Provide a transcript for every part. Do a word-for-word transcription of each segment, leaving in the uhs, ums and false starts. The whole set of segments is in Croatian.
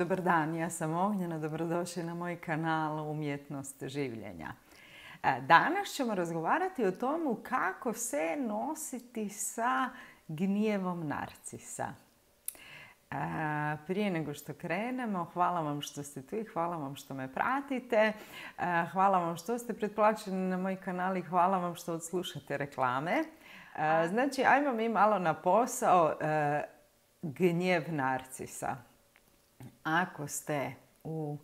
Dobar dan, ja sam Ognjena, dobrodošli na moj kanal Umjetnost življenja. Danas ćemo razgovarati o tomu kako se nositi sa gnjevom narcisa. Prije nego što krenemo, hvala vam što ste tu i hvala vam što me pratite. Hvala vam što ste pretplaćeni na moj kanal i hvala vam što odslušate reklame. Znači, ajmo mi malo na posao. Gnjev narcisa. Ako ste u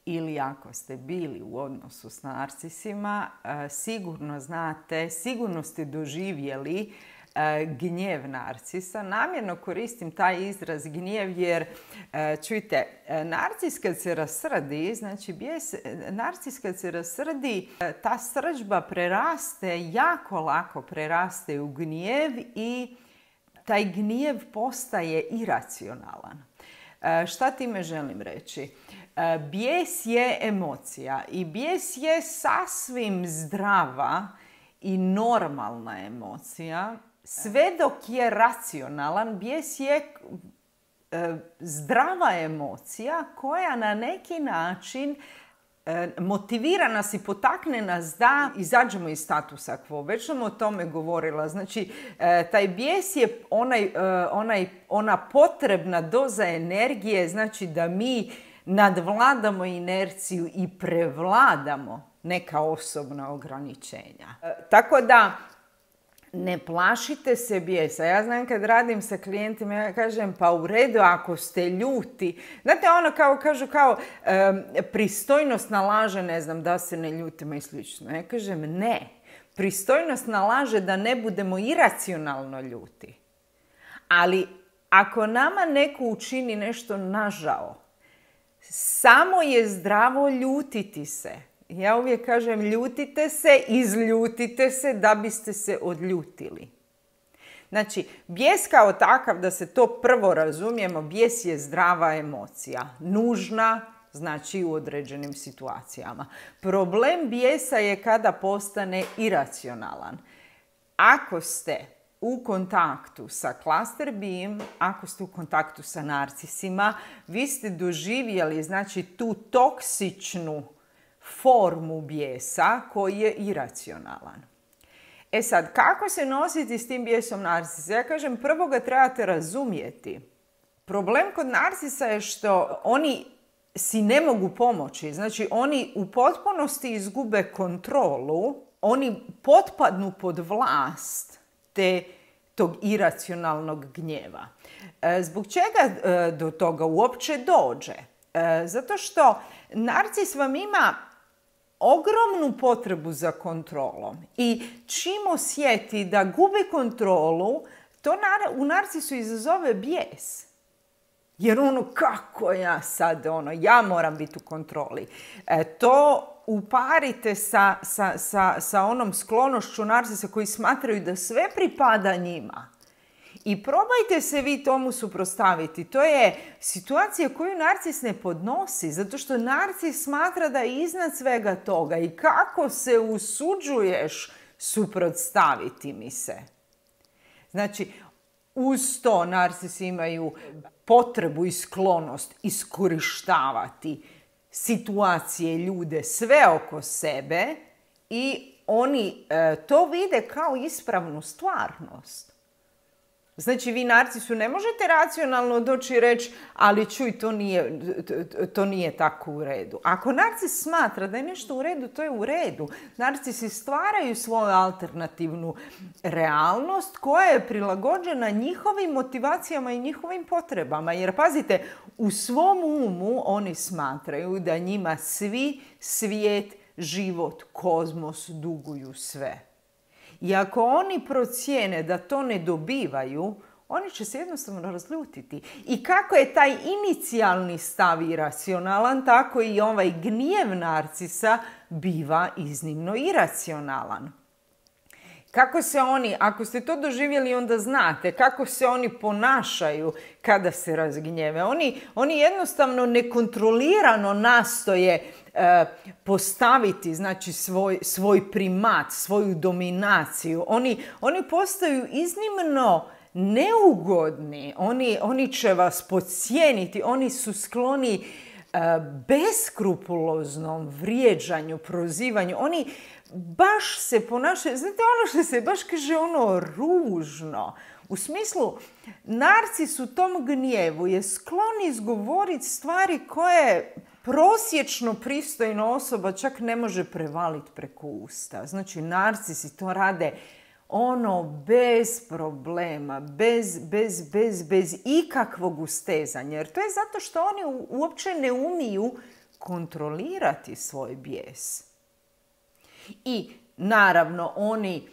ili ako ste bili u odnosu s narcisima, sigurno znate, sigurno ste doživjeli gnjev narcisa. Namjerno koristim taj izraz gnjev jer, čujte, narcis kad se rasrdi, znači bijes, narcis kad se rasrdi, ta srdžba preraste, jako lako preraste u gnjev i taj gnjev postaje iracionalan. Šta time želim reći? Bijes je emocija i bijes je sasvim zdrava i normalna emocija. Sve dok je racionalan, bijes je zdrava emocija koja na neki način motivira nas i potakne nas da izađemo iz statusa quo. Već sam o tome govorila. Znači, taj bijes je onaj, onaj, ona potrebna doza energije, znači da mi nadvladamo inerciju i prevladamo neka osobna ograničenja. Tako da, ne plašite se bijesa. Ja znam kad radim sa klijentima, ja kažem pa u redu ako ste ljuti. Znate ono kao kažu kao um, pristojnost nalaže, ne znam, da se ne ljutimo i slično. Ja kažem ne. Pristojnost nalaže da ne budemo iracionalno ljuti. Ali ako nama neko učini nešto nažao, samo je zdravo ljutiti se. Ja uvijek kažem ljutite se, izljutite se da biste se odljutili. Znači, bijes kao takav, da se to prvo razumijemo, bijes je zdrava emocija. Nužna, znači u određenim situacijama. Problem bijesa je kada postane iracionalan. Ako ste u kontaktu sa cluster B-em, ako ste u kontaktu sa narcisima, vi ste doživjeli, znači, tu toksičnu formu bijesa koji je iracionalan. E sad, kako se nositi s tim bijesom narcisa? Ja kažem, prvo ga trebate razumjeti. Problem kod narcisa je što oni si ne mogu pomoći. Znači, oni u potpunosti izgube kontrolu, oni potpadnu pod vlast te tog iracionalnog gnjeva. Zbog čega do toga uopće dođe? Zato što narcis vam ima ogromnu potrebu za kontrolom i čim osjeti da gubi kontrolu, to u narcisu izazove bijes. Jer ono, kako ja sad, ono, ja moram biti u kontroli. E, to uparite sa, sa, sa, sa onom sklonošću narcisa koji smatraju da sve pripada njima. I probajte se vi tomu suprotstaviti. To je situacija koju narcis ne podnosi, zato što narcis smatra da je iznad svega toga. I kako se usuđuješ suprotstaviti mi se? Znači, uz to narcisi imaju potrebu i sklonost iskorištavati situacije, ljude, sve oko sebe i oni e, to vide kao ispravnu stvarnost. Znači, vi narcisu ne možete racionalno doći i reći, ali čuj, to nije, to nije tako u redu. Ako narcis smatra da je nešto u redu, to je u redu. Narcisi stvaraju svoju alternativnu realnost koja je prilagođena njihovim motivacijama i njihovim potrebama. Jer, pazite, u svom umu oni smatraju da njima svi svijet, život, kozmos duguju sve. I ako oni procijene da to ne dobivaju, oni će se jednostavno razljutiti. I kako je taj inicijalni stav iracionalan, tako i ovaj gnjev narcisa biva iznimno iracionalan. Kako se oni, ako ste to doživjeli, onda znate kako se oni ponašaju kada se razgnjeve. Oni, oni jednostavno nekontrolirano nastoje e, postaviti, znači, svoj, svoj primat, svoju dominaciju. Oni, oni postaju iznimno neugodni, oni, oni će vas podcijeniti, oni su skloni uh, beskrupuloznom vrijeđanju, prozivanju, oni baš se ponašaju, znate ono što se baš kaže ono ružno. U smislu, narcis u tom gnjevu je sklon izgovoriti stvari koje prosječno pristojna osoba čak ne može prevaliti preko usta. Znači, narcisi to rade ono bez problema, bez, bez, bez, bez ikakvog ustezanja. Jer to je zato što oni uopće ne umiju kontrolirati svoj bijes. I naravno oni,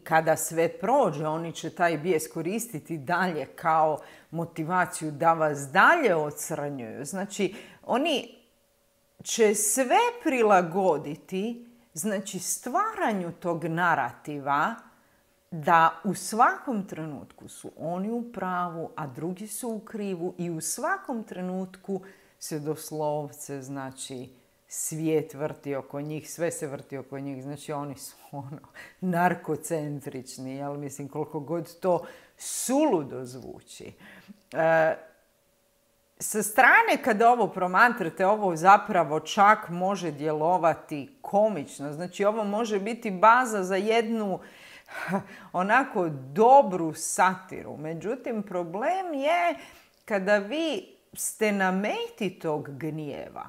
kada sve prođe, oni će taj bijes koristiti dalje kao motivaciju da vas dalje ocrnjuju. Znači, oni će sve prilagoditi, znači, stvaranju tog narativa da u svakom trenutku su oni u pravu, a drugi su u krivu i u svakom trenutku se doslovce, znači, svijet vrti oko njih, sve se vrti oko njih. Znači, oni su ono, narkocentrični, jel? Mislim, koliko god to suludo zvuči. E, sa strane, kada ovo promatrate, ovo zapravo čak može djelovati komično. Znači, ovo može biti baza za jednu onako dobru satiru. Međutim, problem je kada vi ste na meti tog gnjeva.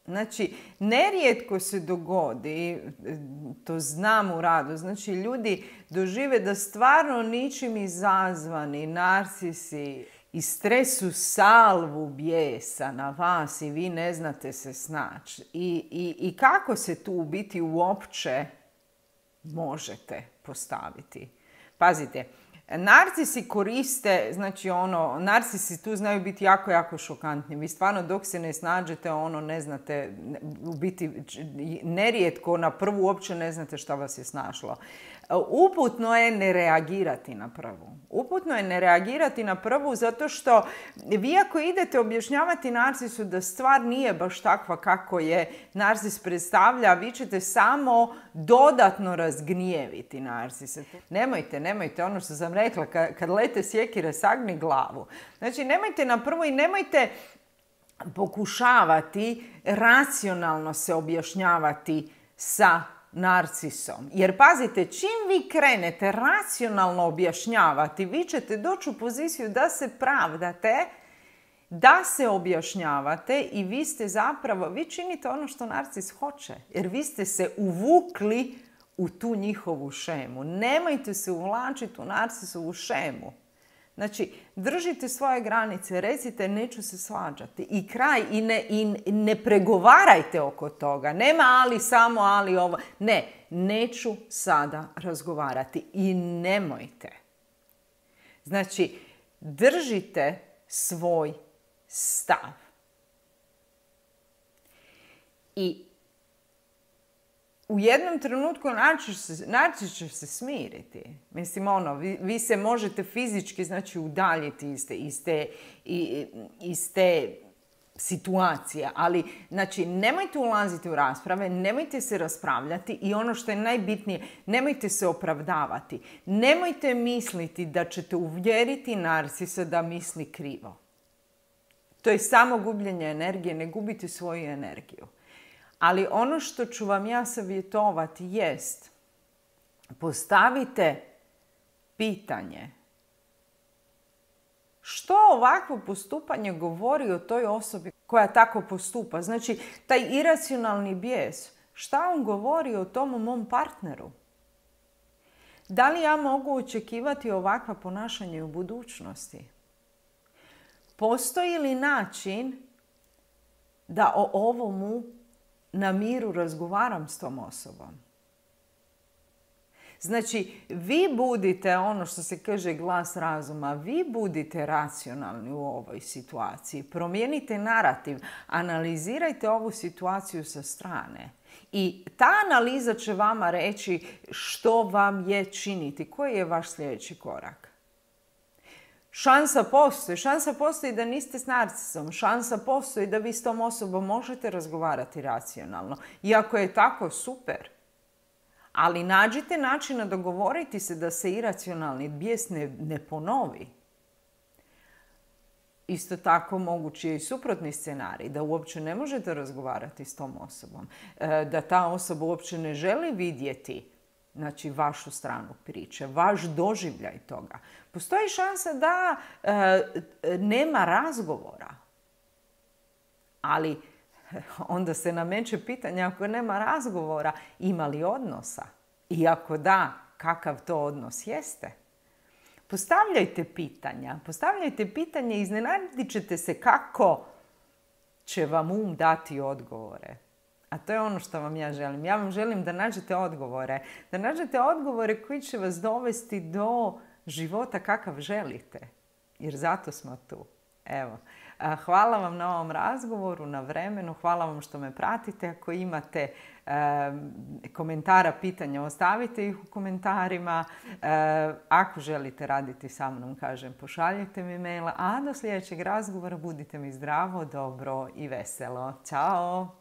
Znači, nerijetko se dogodi, to znam u radu, znači ljudi dožive da stvarno ničim izazvani narcisi istresu salvu bijesa na vas i vi ne znate se snaći. I, i, i kako se tu u biti uopće možete postaviti? Pazite, narcisi koriste, znači ono, narcisi tu znaju biti jako, jako šokantni. Vi stvarno dok se ne snađete, ono, ne znate, u biti nerijetko na prvu uopće ne znate šta vas je snašlo. Uputno je ne reagirati na prvu. Uputno je ne reagirati na prvu zato što vi ako idete objašnjavati narcisu da stvar nije baš takva kako je narcis predstavlja, vi ćete samo dodatno razgnjeviti narcise. Nemojte, nemojte, ono što sam rekla, kad lete sjekire, sagni glavu. Znači, nemojte na prvu i nemojte pokušavati racionalno se objašnjavati sa narcisom. Jer pazite, čim vi krenete racionalno objašnjavati, vi ćete doći u poziciju da se pravdate, da se objašnjavate i vi ste zapravo, vi činite ono što narcis hoće. Jer vi ste se uvukli u tu njihovu šemu. Nemojte se uvlačiti u narcisovu šemu. Znači, držite svoje granice, recite neću se svađati i kraj i ne, i ne pregovarajte oko toga. Nema ali, samo ali ovo. Ne, neću sada razgovarati i nemojte. Znači, držite svoj stav. I u jednom trenutku narcis će se smiriti. Mislim, ono, vi, vi se možete fizički, znači, udaljiti iz te, iz te, iz te situacije. Ali, znači, nemojte ulaziti u rasprave, nemojte se raspravljati i ono što je najbitnije, nemojte se opravdavati. Nemojte misliti da ćete uvjeriti narcisa da misli krivo. To je samo gubljenje energije, ne gubite svoju energiju. Ali ono što ću vam ja savjetovati jest, postavite pitanje. Što ovakvo postupanje govori o toj osobi koja tako postupa? Znači, taj iracionalni bijes, šta on govori o tom mom partneru? Da li ja mogu očekivati ovakva ponašanja u budućnosti? Postoji li način da o ovomu na miru razgovaram s tom osobom? Znači, vi budite, ono što se kaže glas razuma, vi budite racionalni u ovoj situaciji. Promijenite narativ, analizirajte ovu situaciju sa strane. I ta analiza će vama reći što vam je činiti, koji je vaš sljedeći korak. Šansa postoji. Šansa postoji da niste s narcisom. Šansa postoji da vi s tom osobom možete razgovarati racionalno. I ako je tako, super. Ali nađite načina dogovoriti se da se iracionalni bijes ne, ne ponovi. Isto tako mogući je i suprotni scenarij, da uopće ne možete razgovarati s tom osobom, da ta osoba uopće ne želi vidjeti, znači, vašu stranu priče, vaš doživljaj toga. Postoji šansa da e, nema razgovora. Ali onda se nameće pitanje, ako nema razgovora, ima li odnosa? I ako da, kakav to odnos jeste? Postavljajte pitanja. Postavljajte pitanje i iznenadit ćete se kako će vam um dati odgovore. A to je ono što vam ja želim. Ja vam želim da nađete odgovore. Da nađete odgovore koji će vas dovesti do života kakav želite. Jer zato smo tu. Evo. Hvala vam na ovom razgovoru, na vremenu. Hvala vam što me pratite. Ako imate e, komentara, pitanja, ostavite ih u komentarima. E, ako želite raditi sa mnom, kažem, pošaljite mi maila. A do sljedećeg razgovora budite mi zdravo, dobro i veselo. Ćao!